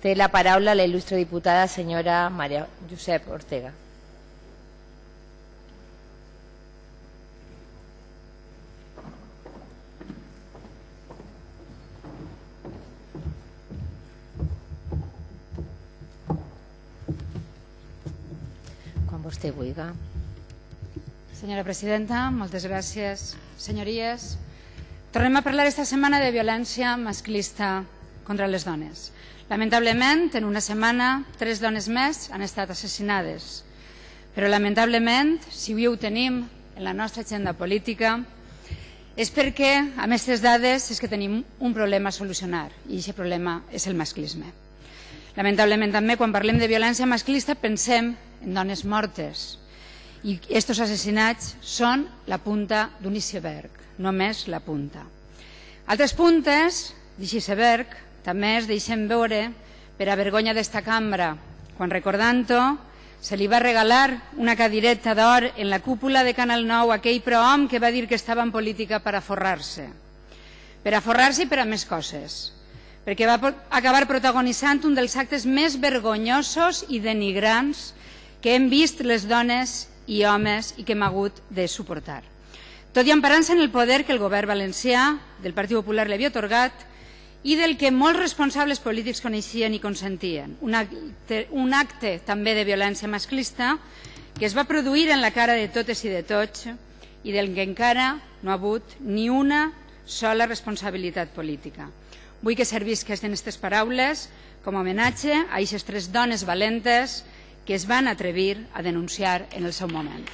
Té la paraula la il·lustre diputada senyora Maria Josep Ortega. Quan vostè vulgui. Senyora presidenta, moltes gràcies. Senyories, tornem a parlar esta setmana de violència masclista contra les dones. Lamentablement, en una setmana, 3 dones més han estat assassinades. Però lamentablement, si avui ho tenim en la nostra agenda política, és perquè, amb aquestes dades, és que tenim un problema a solucionar, i aquest problema és el masclisme. Lamentablement també, quan parlem de violència masclista, pensem en dones mortes. I aquests assassinats són la punta d'un iceberg, només la punta. Altres puntes d'aquest iceberg també es deixen veure per a vergonya d'esta cambra, quan, recordant-ho, se li va regalar una cadireta d'or en la cúpula de Canal 9 a aquell prohom que va dir que estava en política per a forrar-se. Per a forrar-se i per a més coses. Perquè va acabar protagonitzant un dels actes més vergonyosos i denigrants que hem vist les dones i homes i que hem hagut de suportar. Tot i emparant-se en el poder que el govern valencià del Partit Popular li havia atorgat i del que molts responsables polítics coneixien i consentien. Un acte també de violència masclista que es va produir en la cara de totes i de tots i del que encara no ha hagut ni una sola responsabilitat política. Vull que servisquen aquestes paraules com a homenatge a aquestes 3 dones valentes que es van atrevir a denunciar en el seu moment.